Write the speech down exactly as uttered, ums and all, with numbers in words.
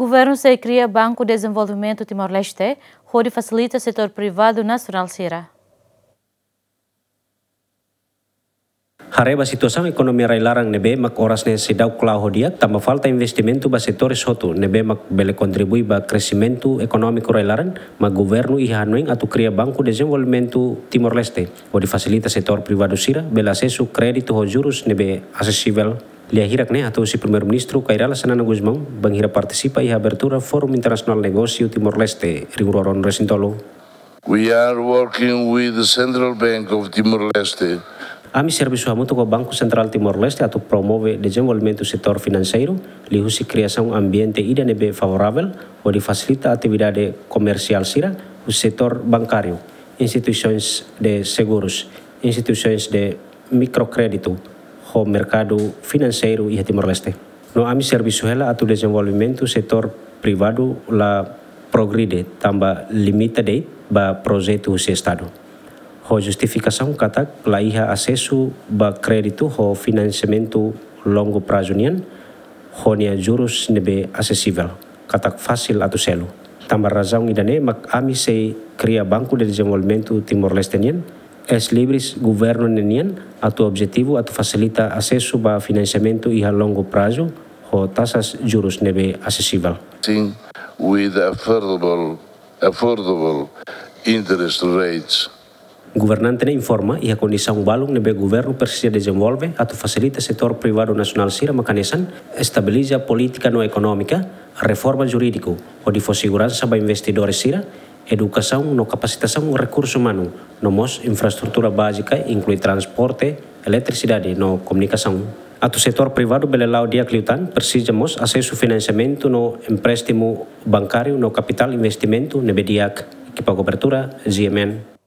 Governu sei kria Banku Dezenvolvimentu Timor-Leste hodi fasilita setór privadu nasionál sira. Haree ba situasaun ekonomia rai-laran ne'ebé mak oras ne'e seidauk la'o ho di'ak, tanba falta investimentu ba setores hotu ne'ebé mak bele kontribui ba kresimentu ekonómiku rai-laran, mak governu iha hanoin atu kria Banku Dezenvolvimentu Timor-Leste hodi fasilita setór privadu sira bele asesu kréditu ho jurus ne'ebé asesivel. Lia hirak ne'e hato'o husi Primeiru-Ministru Kay Rala Xanana Gusmão bainhira partisipa iha abertura Fórum Internasionál Negósiu Timor-Leste rihun rua ruanulu-resin-tolu. We are working with the Central Bank of Timor-Leste. Ami servisu hamutuk ho Banku Sentrál Timor-Leste atu promove dezenvolvimentu setór finanseiru, liuhusi kriasaun ambiente ida ne'ebé favoravel hodi fasilita atividade komersiál sira husi setór bankáriu, instituisoens de segurus, instituisoens de mikrokréditu ho merkadu finanseiru iha Timor-Leste. No ami servisu hela atu dezenvolvimentu setór privadu la progride tanba limita de'it ba projetu husi Estadu. Ho justifikasaun katak la iha asesu ba kréditu ho finansiamentu longu prazu nian, ho nia jurus ne'ebé asesivel, katak fasil atu selu. Tanba razaun ida-ne'e mak ami sei kria Banku Dezenvolvimentu Timor-Leste nian, eis-libris governu ne'e nian, atu objetivu atu fasilita asesu ba finansiamentu iha longu prazu ho taxas jurus ne'ebé asesivel. Thing with affordable, affordable interest rates. Governante ne'e informa iha kondisaun balun ne'ebé governu presiza dezenvolve atu fasilita setór privadu nasionál sira mak hanesan estabiliza polítika no ekonómika, reforma jurídiku hodi fó seguransa ba investidores sira, edukasaun no kapasitasaun rekursu umanu, no mós infraestrutura bázika, inklui transporte, eletrisidade no komunikasaun. Atu setór privadu bele la'o di'ak liután, presiza mós asesu finansiamentu no empréstimu bankáriu no kapitál investimentu ne'ebé di'ak, ekipa kobertura, G M N.